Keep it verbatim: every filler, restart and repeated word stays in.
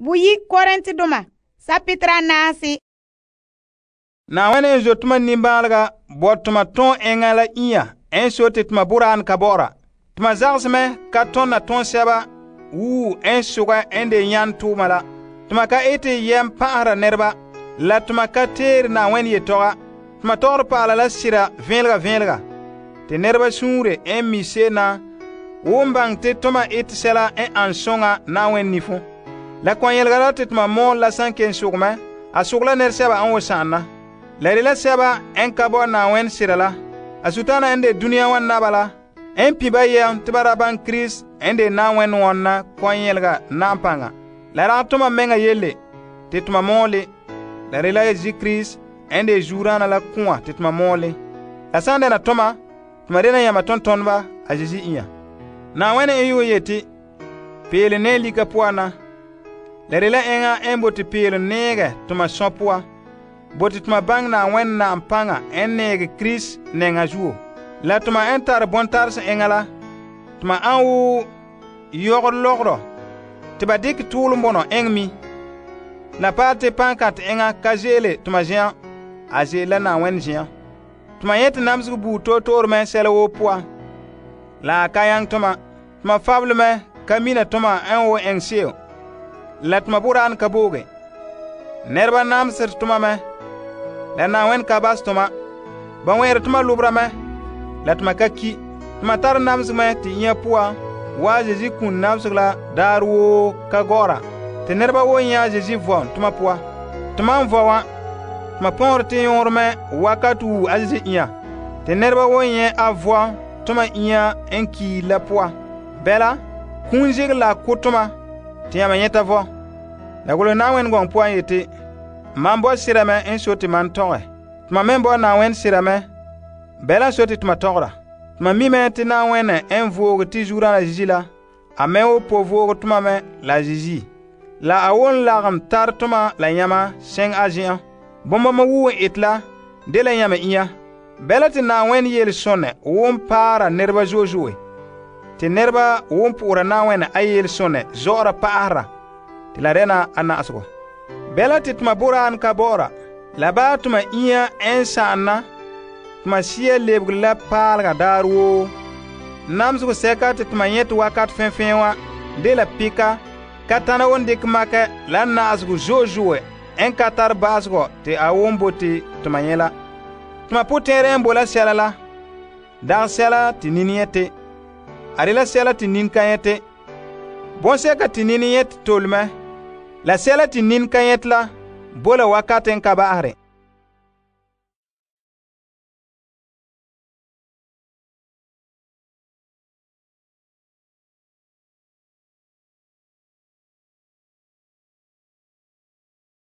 Buyi Korintedoma sapitra naasi. Naawene en zo tuma nimbaalega bo tuma ton enŋa la inya en so te tuma boraan ka bɔ'ɔra. Tuma zagseme ka tonna ton sɛba wuu en suga en de nyan tuuma la. Tuma ka ete yɛm pa'ahara nɛreba la tuma ka teere Naawene yetɔga. Tuma tɔgɔre pa'ala la sira vẽelega vẽelega. Te nɛreba suunre en mi se'em na won baŋɛ te tuma ete sɛla en an soŋa Naawene nifo. La kɔn yelga la te tuma mɔɔl la san ken sugmɛ, a sugla nɛresɛba an wo sa'an na. La de la sɛba en ka bo Naawene sira la. A sutana en de dunia wa naba la, en pi ba yɛm te ba ra baŋɛ Kirist en de Naawene wɔna kɔn yelga na'am paŋa. La rag tuma meŋa yelle te tuma mɔɔle. La de la Yesu Kirist en de zuurana la kũa te tuma mɔɔle. La san dɛna tuma, tuma dena yama tontoneba a Yesu inya. Naawene en yuo yeti, peele ne lika poan na. La de la enŋa en bote peele neege tuma sõ poa. Bote tuma baŋɛ Naawene na'am paŋa en neege Kirist nɛŋa zuo. La tuma en tare bontarse enŋa la, tuma an wo yɔgɔ lɔgɔrɔ te ba dikɛ tuulum bɔnɔ eŋɛ mi. La paɛ te pankãte enŋa ka ze'ele tuma zen'an, a ze'ele la Naawene zen'an. Tuma yete namesegɔ buu toor-toore mɛ sɛla woo poan. La a ka yaŋɛ tuma. Tuma fabele mɛ ka mina tuma en wo eŋɛ se'em. La tuma boraan ka booge. Nɛreba namesere tuma mɛ. La Naawene ka bas tuma. Ba wɛɛre tuma lobra mɛ. La tuma ka ki. Tuma tare namesegɔ mɛ te inya poan waa Yesu kun namesegɔ la daar woo ka gɔ'ɔra. Te nɛreba woo nyɛ Yesu vɔm tuma poa. Tuma n vɔ wa, tuma pɔgɔre te yõore mɛ wakati wuu a Yesu inya. Te nɛreba woo nyɛ a vɔm tuma inya en kiil la poa. Bɛla, kun zegere la ko tuma te yãmba nyɛta vɔ. La golehɛ Naawene gɔŋ poan yeti, man bɔ sira mɛ en so te man tɔgɛ. Tuma me bɔ Naawene sira mɛ, bɛla so te tuma tɔgɔra. Tuma mi mɛ te Naawene en vooge te zuurana Yesu la, a mɛ wo po vooge tuma mɛ la Yesu. La a won lagem tar tuma la yãma sɛŋ a zen'an. Bõmbama wuu en ete la de la yãmba inya. Bɛla te Naawene yele sõnɛ won paara nɛreba zo'e zo'e. Te nɛreba won po'ora Naawene a yele sõnɛ zɔ'ɔra pa'ahera. Te la dɛna a na'asegɔ. Bɛla te tuma boraan ka bɔ'ɔra. La baa tuma inya en sa'an na, tuma sia lebege la paalega daar woo. Namesegɔ sɛka te tuma nyɛte wakat fẽfẽ wa de la pika, ka tana won dikɛ makɛ la na'asegɔ zo'e zo'e en ka tar ba'asegɔ te a won bote tuma nyɛ la. Tuma potɛɛrɛ en bo la sɛla la, dagɛ sɛla te nin yɛte. A de la sɛla te nin ka yɛte. Bõnsɛka te nin yɛte tole mɛ, la sɛla te nin ka yɛte la bo la wakat en ka ba'asere.